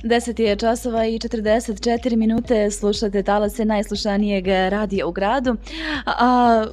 10 je časova i 44 minute, slušate talase najslušanijeg radija u gradu, a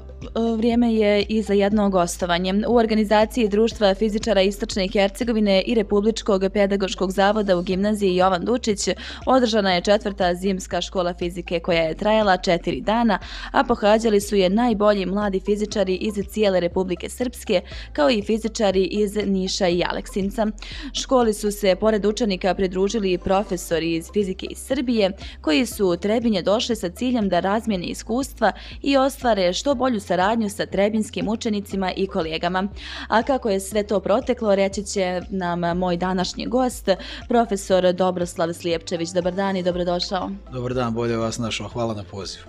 vrijeme je i za jedno gostovanje. U organizaciji Društva fizičara Istočne Hercegovine i Republičkog pedagoškog zavoda u gimnaziji Jovan Dučić održana je 4. zimska škola fizike koja je trajala 4 dana, a pohađali su je najbolji mladi fizičari iz cijele Republike Srpske, kao i fizičari iz Niša i Aleksinca. Školi su se pored učenika pridružili i profesori iz fizike iz Srbije, koji su u Trebinje došli sa ciljem da razmijene iskustva i ostvare što bolju saradnju sa trebinskim učenicima i kolegama. A kako je sve to proteklo, reći će nam moj današnji gost, profesor Dobroslav Slijepčević. Dobar dan i dobrodošao. Dobar dan, bolje vas našao. Hvala na pozivu.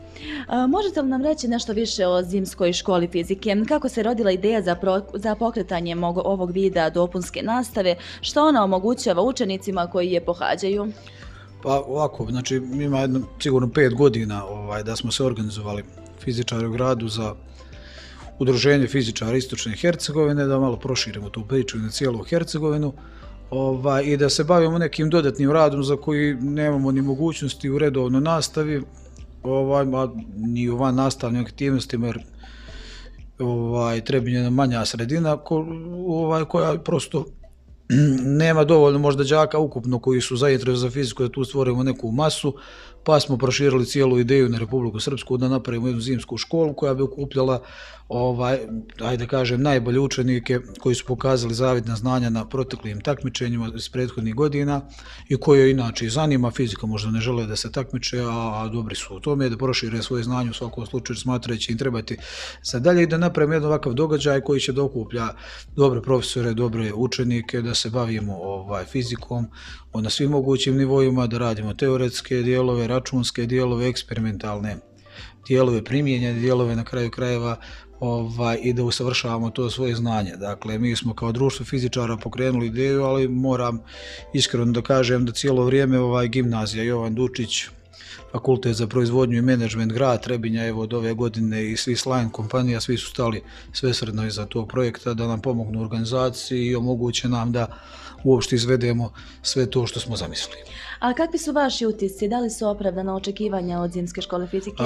Možete li nam reći nešto više o zimskoj školi fizike? Kako se rodila ideja za pokretanje ovog vida dopunske nastave? Što ona omogućava učenicima koji je pohađaju? Pa ovako, znači ima sigurno 5 godina da smo se organizovali fizičari u gradu za udruženje fizičara Istočne Hercegovine, da malo proširimo tu priču na cijelu Hercegovinu i da se bavimo nekim dodatnim radom za koji nemamo ni mogućnosti u redovnoj nastavi, ni u van nastavnim aktivnostima, jer Trebinje je manja sredina koja prosto nema dovoljno možda đaka ukupno koji su zainteresovani za fiziku da tu stvorimo neku masu, pa smo proširili cijelu ideju na Republiku Srpsku da napravimo jednu zimsku školu koja bi okupljala ajde kažem najbolje učenike koji su pokazali zavidna znanja na proteklim takmičenjima iz prethodnih godina i koje inače zanima fizika, možda ne žele da se takmiče, a dobri su u tome, da prošire svoje znanje u svakom slučaju smatrajući im trebati za dalje i da napravimo jedan ovakav događaj koji će da okuplja dobre profesore, dobre učenike, da se bavimo fizikom na svim mogućim nivoima, da radimo teoretske dijelove, računske dijelove, eksperimentalne dijelove, primijenjene dijelove na kraju krajeva i da usavršavamo to svoje znanje. Dakle, mi smo kao društvo fizičara pokrenuli ideju, ali moram iskreno da kažem da cijelo vrijeme gimnazija Jovan Dučić, Fakultet za proizvodnju i menadžment grad Trebinja, evo od ove godine i svi Slajn kompanija, svi su stali svesrdno iza tog projekta da nam pomognu u organizaciji i omoguće nam da uopšte izvedemo sve to što smo zamislili. A kakvi su vaši utisci? Da li su opravdana očekivanja od zimske škole fizike?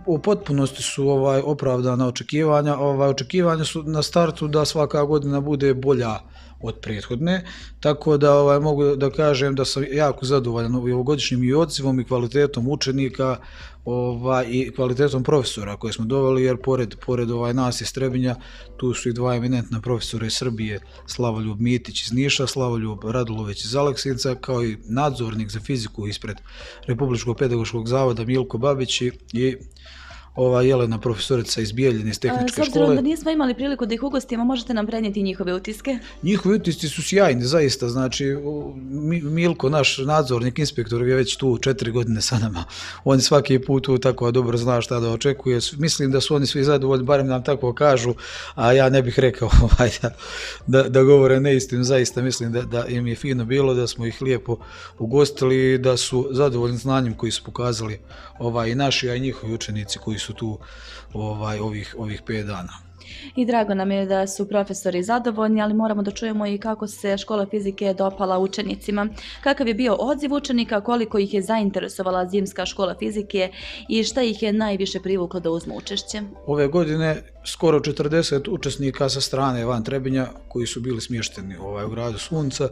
U potpunosti su opravdana očekivanja. Očekivanja su na startu da svaka godina bude bolja od prethodne, tako da mogu da kažem da sam jako zadovoljan ovogodišnjim i odzivom i kvalitetom učenika i kvalitetom profesora koje smo doveli, jer pored nas iz Trebinja tu su i dva eminentna profesora iz Srbije, Slavoljub Mitić iz Niša, Slavoljub Radulović iz Aleksinca, kao i nadzornik za fiziku ispred Republičkog pedagoškog zavoda Milko Babić i Jelena profesorica iz Bijeljine iz tehničke škole. S obzirom da nismo imali priliku da ih ugostimo, možete nam prenijeti njihove utiske? Njihovi utisci su sjajni, zaista. Znači, Milko, naš nadzornik, inspektor, je već tu 4 godine sa nama. On svaki put tu tako dobro zna šta da očekuje. Mislim da su oni svi zadovoljni, barem nam tako kažu, a ja ne bih rekao da govore neistinu. Zaista mislim da im je fino bilo, da smo ih lijepo ugostili i da su zadovoljni znanjem koji su pokazali i naši, a i njihovi učenici koji su tu ovih 5 dana. I drago nam je da su profesori zadovoljni, ali moramo da čujemo i kako se škola fizike dopala učenicima. Kakav je bio odziv učenika, koliko ih je zainteresovala zimska škola fizike i šta ih je najviše privuklo da uzmu učešće? Ove godine skoro 40 učesnika sa strane van Trebinja koji su bili smješteni u gradu Sunca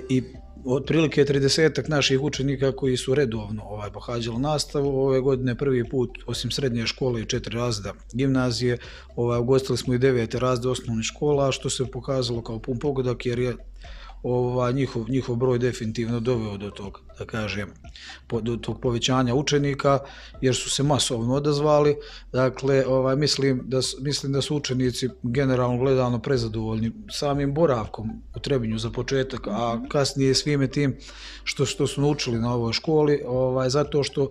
i otprilike 30 naših učenika koji su redovno pohađali nastavu. Ove godine prvi put, osim srednje škole i 4 razreda gimnazije, ugostili smo i 9 razreda osnovnih škola, što se pokazalo kao pun pogodak, jer je njihov broj definitivno doveo do tog, da kažem, do tog povećanja učenika, jer su se masovno odazvali. Dakle, mislim da su učenici generalno gledano prezadovoljni samim boravkom u Trebinju za početak, a kasnije svime tim što su naučili na ovoj školi, zato što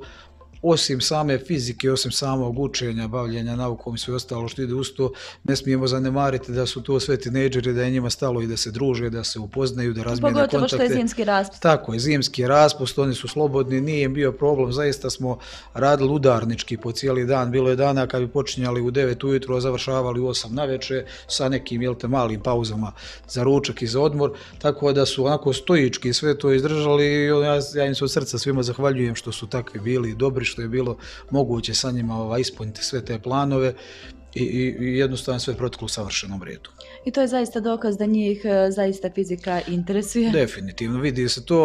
osim same fizike, osim samog učenja, bavljenja naukom i sve ostalo što ide uz to, ne smijemo zanemariti da su to sve tinejdžeri, da je njima stalo i da se druže, da se upoznaju, da razmijene kontakte. Pogotovo što je zimski raspust. Tako je, zimski raspust, oni su slobodni, nije im bio problem, zaista smo radili udarnički po cijeli dan, bilo je dana kad bi počinjali u 9 ujutro, a završavali u 8 navečer sa nekim malim pauzama za ručak i za odmor, tako da su onako stoički sve to izdržali i ja im se od srca svima zahvaljujem što su takvi bili dobri, što je bilo moguće sa njima ispuniti sve te planove i jednostavno sve proteklo u savršenom redu. I to je zaista dokaz da njih zaista fizika interesuje. Definitivno, vidi se to,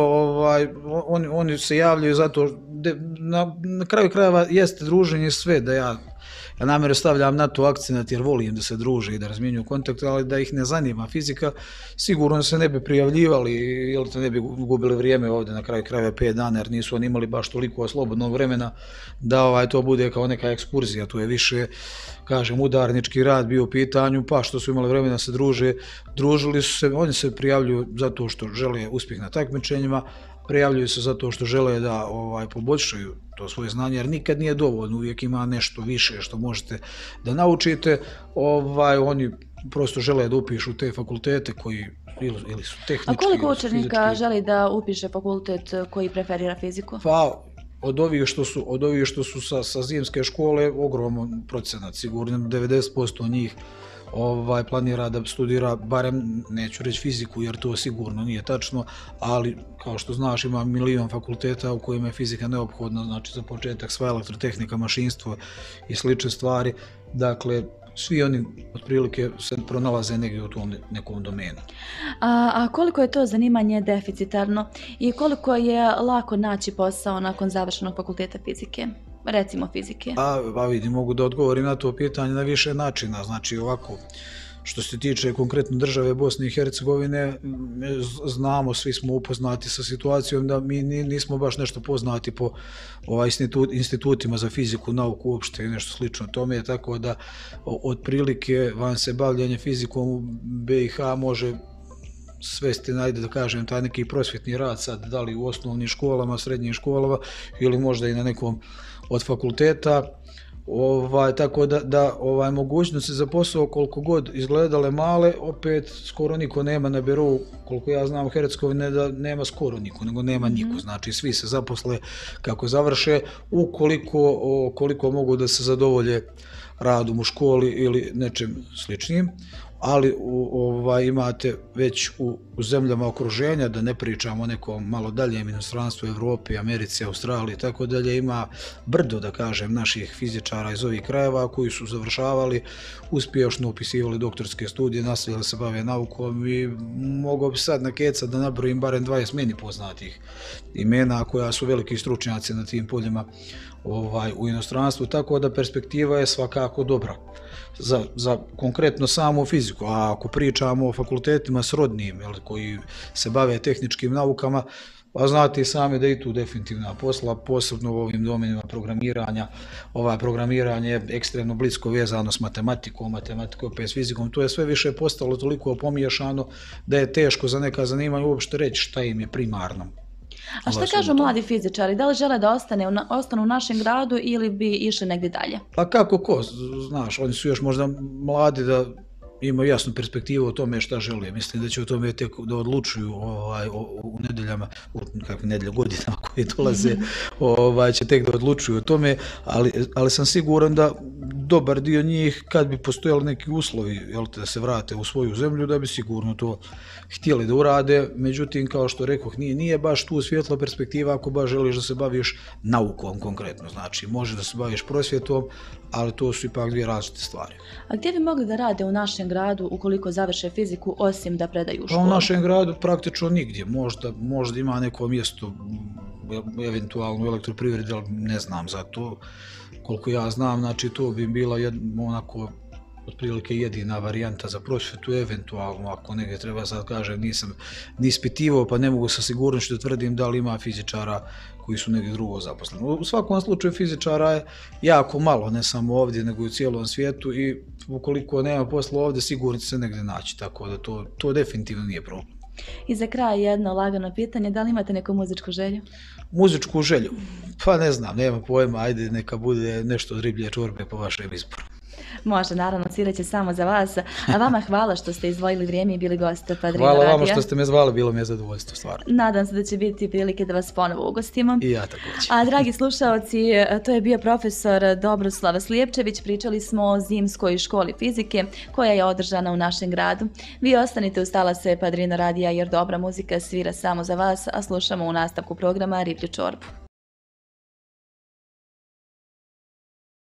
oni se javljaju zato, na kraju krajeva jeste druženje sve, da ja namjerno stavljam na to akcenat jer volim da se druže i da razmjenjuju kontakte, ali da ih ne zanima fizika, sigurno se ne bi prijavljivali ili ne bi gubili vrijeme ovdje na kraju krajeva 5 dana jer nisu oni imali baš toliko slobodnog vremena da to bude kao neka ekskurzija, to je više, kažem, udarnički rad bio u pitanju, pa što su imali vremena da se druže, družili su se, oni se prijavljuju zato što žele uspjeh na takmičenjima, prijavljuju se zato što žele da poboljšaju to svoje znanje, jer nikad nije dovoljno, uvijek ima nešto više što možete da naučite, oni prosto žele da upišu te fakultete koji ili su tehnički. A koliko učenika želi da upiše fakultet koji preferira fiziku? Pa, od ovih što su sa zimske škole, ogroman procenat, sigurno 90% njih planira da studira, barem neću reći fiziku jer to sigurno nije tačno, ali kao što znaš ima milion fakulteta u kojima je fizika neophodna, znači za početak sva elektrotehnika, mašinstvo i slične stvari, dakle svi oni otprilike se pronalaze negdje u tom nekom domenu. A koliko je to zanimanje deficitarno i koliko je lako naći posao nakon završenog fakulteta fizike? Recimo fizike. Vidim, mogu da odgovorim na to pitanje na više načina. Znači ovako, što se tiče konkretno države Bosne i Hercegovine, znamo, svi smo upoznati sa situacijom da mi nismo baš nešto poznati po institutima za fiziku, nauku uopšte i nešto slično tome, tako da otprilike van se bavljanje fizikom u BiH može svesti, najde da kažem, taj neki prosvjetni rad sad, da li u osnovnim školama, srednjim školama ili možda i na nekom od fakulteta, tako da mogućnosti za posao koliko god izgledale male, opet skoro niko nema na birou, koliko ja znam u Hercegovine da nema skoro niko, nego nema niko, znači svi se zaposle kako završe, ukoliko mogu da se zadovolje radom u školi ili nečem sličnim, ali imate već u zemljama okruženja, da ne pričamo o nekom malo daljem inostranstvu, Evropi, Americi, Australiji i tako dalje, ima brdo, da kažem, naših fizičara iz ovih krajeva koji su završavali, uspješno upisivali doktorske studije, nastavili se bave naukom i mogao bi sad nakecat da nabrojim barem 20 meni poznatih imena koja su veliki stručnjaci na tim poljima u inostranstvu, tako da perspektiva je svakako dobra za konkretno samu fiziku. A ako pričamo o fakultetima srodnim koji se bave tehničkim naukama, pa znate i sami da je tu definitivna posla, posebno u ovim domenima programiranja. Programiranje je ekstremno blisko vezano s matematikom, opet s fizikom. To je sve više postalo toliko pomiješano da je teško za neka zanimanja uopšte reći šta im je primarno. A šta kažu mladi fizičari? Da li žele da ostanu u našem gradu ili bi išli negdje dalje? Pa kako ko, znaš, oni su još možda mladi da imaju jasnu perspektivu o tome šta žele. Mislim da će o tome tek da odlučuju u nedeljama, godinama koje dolaze, će tek da odlučuju o tome, ali sam siguran da dobar dio njih, kad bi postojali neki uslovi da se vrate u svoju zemlju, da bi sigurno to htjeli da urade. Međutim, kao što rekoh, nije baš tu svjetla perspektiva ako baš želiš da se baviš naukom konkretno. Znači, može da se baviš prosvjetom, ali to su ipak dvije različite stvari. A gdje bi mogli da rade u našem gradu ukoliko završe fiziku, osim da predaju u školu? U našem gradu praktično nigdje. Možda ima neko mjesto, eventualno u elektroprivredi, ali ne znam za to. Koliko ja znam, znači to bi bila onako otprilike jedina varijanta za prosvjetu, eventualno ako negdje treba, sad kažem, nisam ni ispitivao pa ne mogu sa sigurnošću da tvrdim da li ima fizičara koji su negdje drugo zaposleni. U svakom slučaju fizičara je jako malo, ne samo ovdje nego i u cijelom svijetu, i ukoliko nema posla ovdje sigurno će se negdje naći, tako da to definitivno nije problem. I za kraj jedno lagano pitanje, da li imate neku muzičku želju? Muzičku želju? Pa ne znam, nema pojma, ajde neka bude nešto od riblje čorbe po vašem izboru. Može, naravno, svirat će samo za vas. A vama hvala što ste izdvojili vrijeme i bili goste Padrino Radija. Hvala vama što ste me zvali, bilo mi je zadovoljstvo, stvarno. Nadam se da će biti prilike da vas ponovo ugostimo. I ja također. A dragi slušaoci, to je bio profesor Dobroslav Slijepčević. Pričali smo o zimskoj školi fizike koja je održana u našem gradu. Vi ostanite uz talase Padrino Radija jer dobra muzika svira samo za vas, a slušamo u nastavku programa Riblju čorbu.